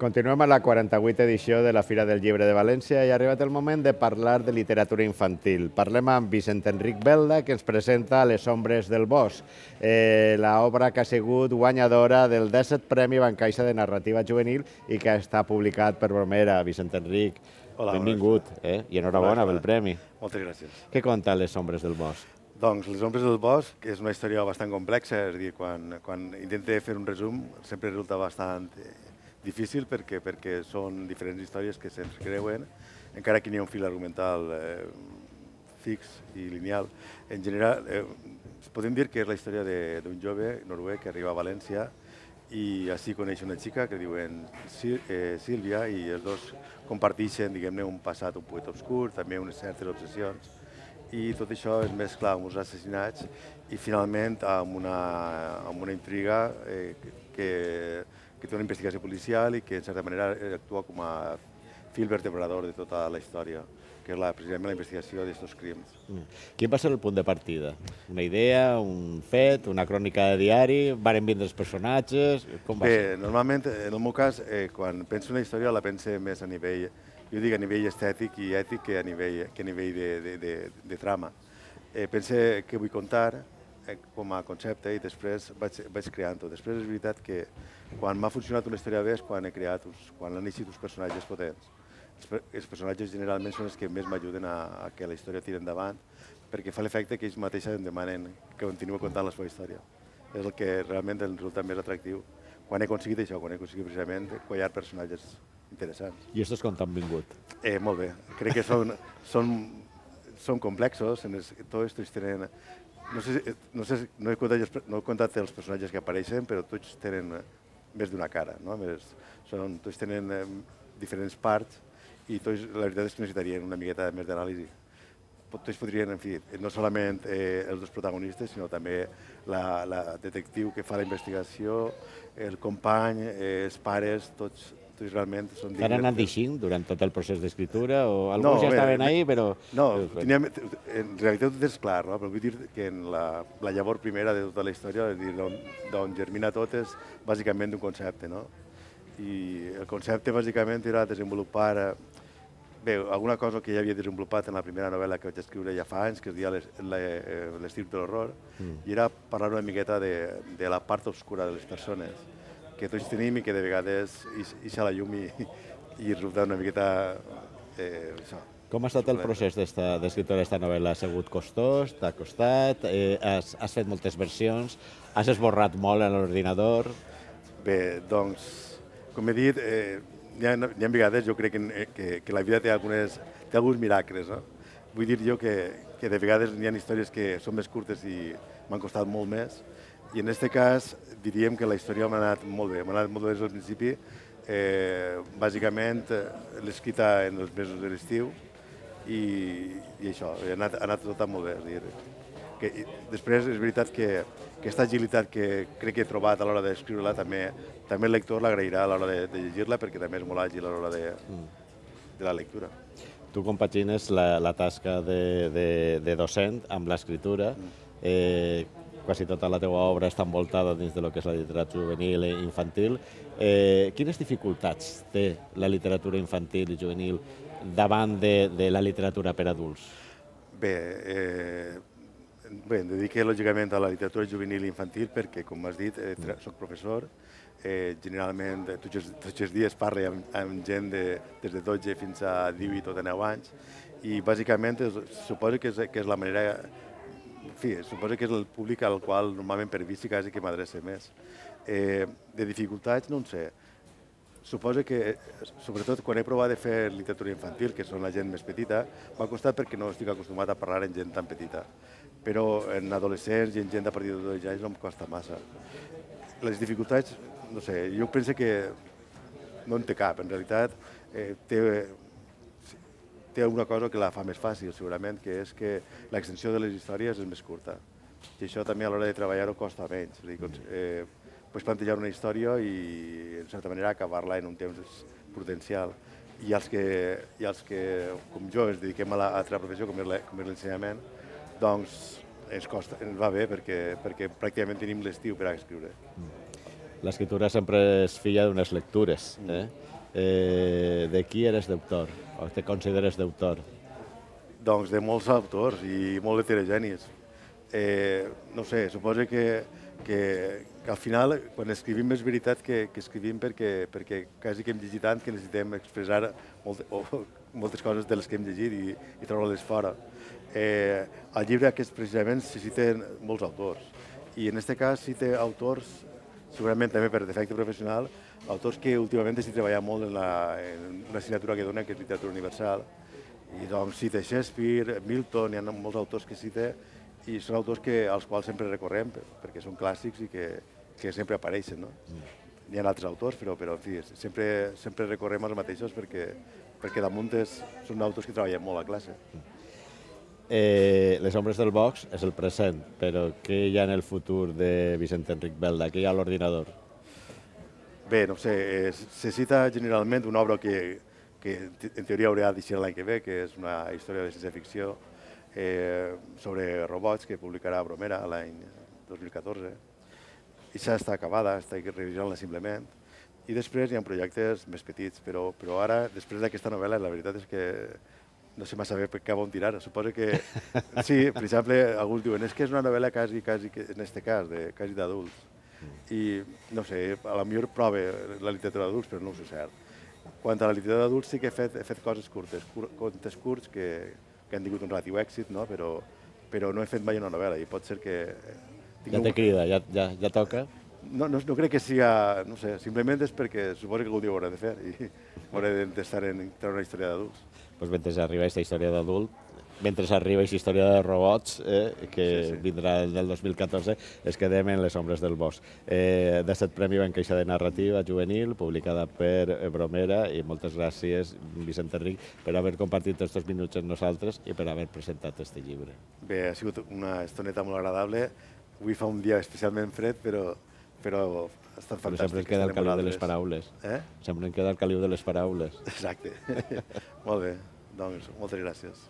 Continuem a la 48a edició de la Fira del Llibre de València i ha arribat el moment de parlar de literatura infantil. Parlem amb Vicent Enric Belda, que ens presenta Les ombres del bosc, l'obra que ha sigut guanyadora del 17è Premi Bancaixa de Narrativa Juvenil i que està publicat per Bromera. Vicent Enric, benvingut i enhorabona pel premi. Moltes gràcies. Què conta Les ombres del bosc? Doncs Les ombres del bosc és una història bastant complexa, és a dir, quan intento fer un resum sempre resulta bastant difícil perquè són diferents històries que s'entrecreuen, encara que n'hi ha un fil argumental fix i lineal. En general, podem dir que és la història d'un jove noruec que arriba a València i així coneix una xica que diuen Sílvia i els dos comparteixen, diguem-ne, un passat un poc obscur, també unes certes obsessions i tot això es mescla amb uns assassinats i finalment amb una intriga que té una investigació policial i que, en certa manera, actua com a fil vertebrador de tota la història, que és precisament la investigació d'aquests crims. Quin va ser el punt de partida? Una idea, un fet, una crònica de diari? Varen vindre els personatges? Com va ser? Bé, normalment, en el meu cas, quan penso una història la pense més a nivell, jo dic a nivell estètic i ètic que a nivell de trama. Pense què vull contar com a concepte i després vaig creant-ho. Després és veritat que quan m'ha funcionat una història bé és quan han eixit uns personatges potents. Els personatges generalment són els que més m'ajuden a que la història tiri endavant perquè fa l'efecte que ells mateixos em demanen que continuï contant la seva història. És el que realment em resulta més atractiu quan he aconseguit això, quan he aconseguit precisament quallar personatges interessants. I aquests com t'han vingut? Molt bé. Crec que són complexos, tots tenen... No he contat els personatges que apareixen, però tots tenen més d'una cara, no? Tots tenen diferents parts i tots, la veritat és que necessitarien una miqueta més d'anàlisi. Tots podrien, en fi, no solament els dos protagonistes, sinó també la detectiu que fa la investigació, el company, els pares, tots realment són dignes. T'han anat deixint durant tot el procés d'escriptura o alguns ja estaven ahí, però... No, en realitat tot és clar, no? Però vull dir que la llavor primera de tota la història, d'on germina tot, és bàsicament d'un concepte, no? I el concepte bàsicament era desenvolupar alguna cosa que ja havia desenvolupat en la primera novel·la que vaig escriure ja fa anys, que es deia L'estirp de l'horror, i era parlar una miqueta de la part obscura de les persones que tots tenim i que de vegades ixa la llum i resulta una miqueta això. Com ha estat el procés d'escriptura d'esta novel·la? Ha sigut costós? T'ha costat? Has fet moltes versions? Has esborrat molt en l'ordinador? Bé, doncs, com he dit, hi ha vegades, jo crec que la vida té alguns miracles, no? Vull dir jo que de vegades hi ha històries que són més curtes i m'han costat molt més, i en aquest cas diríem que la història m'ha anat molt bé, des del principi. Bàsicament l'he escrita en els mesos de l'estiu i això, ha anat tot molt bé. Després és veritat que aquesta agilitat que crec que he trobat a l'hora d'escriure-la també el lector l'agrairà a l'hora de llegir-la perquè també és molt àgil a l'hora de la lectura. Tu compagines la tasca de docent amb l'escriptura. Quasi tota la teva obra està envoltada dins del que és la literatura juvenil i infantil. Quines dificultats té la literatura infantil i juvenil davant de la literatura per adults? Bé, em dedico lògicament a la literatura juvenil i infantil perquè, com has dit, soc professor. Generalment tots els dies parlo amb gent des de 12 fins a 18 o 19 anys i bàsicament suposo que és la manera... En fi, suposo que és el públic al qual normalment per vici quasi que m'adreça més. De dificultats, no en sé. Suposo que, sobretot quan he provat de fer literatura infantil, que són la gent més petita, m'ha costat perquè no estic acostumat a parlar amb gent tan petita. Però en adolescents i en gent a partir de 12 anys no em costa massa. Les dificultats, no sé, jo penso que no en té cap. En realitat, té una cosa que la fa més fàcil, segurament, que és que l'extensió de les històries és més curta. I això també a l'hora de treballar-ho costa menys. Pots plantejar una història i, en certa manera, acabar-la en un temps prudencial. I els que, com jo, ens dediquem a l'altra professió, com és l'ensenyament, doncs ens va bé perquè pràcticament tenim l'estiu per a escriure. L'escriptura sempre és filla d'unes lectures. De qui eres d'autor? O te consideres d'autor? Doncs de molts autors i molt heterogenis. No sé, suposo que al final, quan escrivim, és veritat que escrivim perquè quasi que hem llegit tant que necessitem expressar moltes coses de les que hem llegit i treure-les fora. Al llibre aquest precisament se citen molts autors i en aquest cas cita autors, segurament també per defecte professional, autors que últimament estic treballant molt en una assignatura que dona, que és literatura universal. I doncs cita Shakespeare, Milton, hi ha molts autors que cita i són autors als quals sempre recorrem perquè són clàssics i que sempre apareixen. Hi ha altres autors, però en fi, sempre recorrem als mateixos perquè damunt són autors que treballen molt a classe. Les ombres del box és el present, però què hi ha en el futur de Vicent Enric Belda? Què hi ha a l'ordinador? Bé, no sé, se cita generalment una obra que en teoria haurà d'eixir l'any que ve, que és una història de ciència-ficció sobre robots que publicarà Bromera l'any 2014. I ja està acabada, estic revisant-la simplement. I després hi ha projectes més petits, però ara, després d'aquesta novel·la, la veritat és que no sé massa bé cap on tirar. Suposo que, sí, per exemple, alguns diuen és que és una novel·la quasi, en aquest cas, quasi d'adults. I, no sé, a la millor prova la literatura d'adults, però no ho sé cert. Quant a la literatura d'adults sí que he fet coses curtes, contes curts que han tingut un relatiu èxit, però no he fet mai una novel·la i pot ser que... Ja te crida, ja toca? No crec que sigui, no sé, simplement és perquè suposo que algun dia ho hauré de fer i hauré d'estar en treure una història d'adults. Doncs mentre arriba aquesta història d'adult, mentre arriba aquesta història de robots, que vindrà del 2014, es quedem en Les ombres del bosc. D'aquest premi va encaixar de narrativa juvenil, publicada per Bromera, i moltes gràcies, Vicent Enric, per haver compartit aquests minuts amb nosaltres i per haver presentat aquest llibre. Bé, ha sigut una estoneta molt agradable. Avui fa un dia especialment fred, però ha estat fantàstic. Però sempre ens queda el caliu de les paraules. Sempre ens queda el caliu de les paraules. Exacte. Molt bé, doncs moltes gràcies.